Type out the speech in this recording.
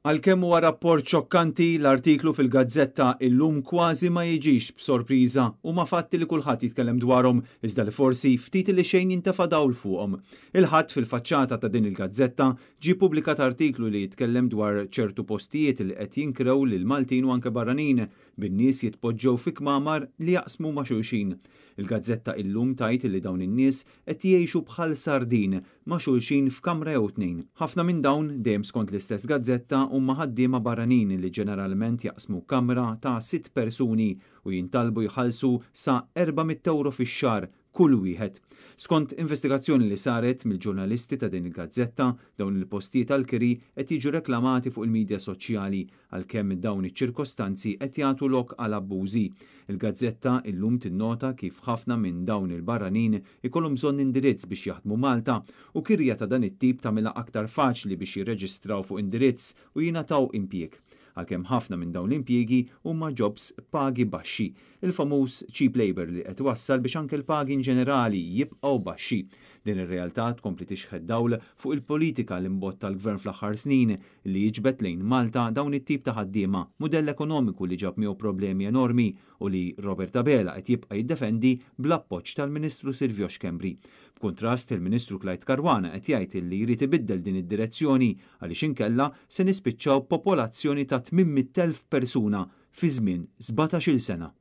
Għalkemm huwa rapport xokkanti, l-artiklu fil-gazzetta Illum kważi ma jiġix b'sorpriża. Huma fatti li kulħadd jitkellem dwarhom, iżda li forsi ftit li xejn jintefa' dawl fuqhom. Il-Ħadd fil-faċċata ta' din il-gazzetta ġie ppubblikat artiklu li jitkellem dwar ċertu postijiet li qed jinkrew lil Maltin u anke barranin, bin-nies jitpoġġew fi kmamar li jaqsmu ma' xulxin. Il-gazzetta Illum tgħid li dawn in-nies qed jgħixu bħal sardin ma' xulxin f'kamra jew tnejn. Ħafna minn dawn, dejjem skont l-istess gazzetta, huma ħaddiema barranin li ġeneralment jaqsmu kamra ta' sitt persuni u jintalbu jħallsu sa 400 ewro fix-xahar kull wieħed. Skont investigazzjoni li saret mill-ġurnalisti ta' din il-gazzetta, dawn il-postijiet għall-kiri qed jiġu reklamati fuq il-midja soċjali għalkemm dawn iċ-ċirkostanzi qed jagħtu lok għal abbużi. Il-gazzetta Illum tinnota kif ħafna minn dawn il-barranin ikollhom bżonn indirizz biex jaħdmu Malta u kirja ta' dan it-tip tagħmilha aktar faċli biex jirreġistraw fuq indirizz u jingħataw impjieg. Għalkemm ħafna minn dawn l-impjiegi huma jobs b'pagi baxxi. Il-famuż cheap labour li qed iwassal biex anke l-pagi inġenerali jibqgħu baxxi. Din ir-realtà tkompli tixħet dawl fuq il-politika li mbotta l-Gvern fl-aħħar snin li jiġbed lejn Malta dawn it-tip ta' ħaddiema, mudell ekonomiku li ġab miegħu problemi enormi u li Robert Abela qed jibqa' jiddefendi bl-appoġġ tal-Ministru Silvio Schembri. B'kuntrast, il-Ministru Clyde Caruana qed jgħid li jrid ibiddel din id-direzzjoni għaliex inkella se nispiċċaw b'popolazzjoni ta' 800,000 persuna fi żmien 17-il sena.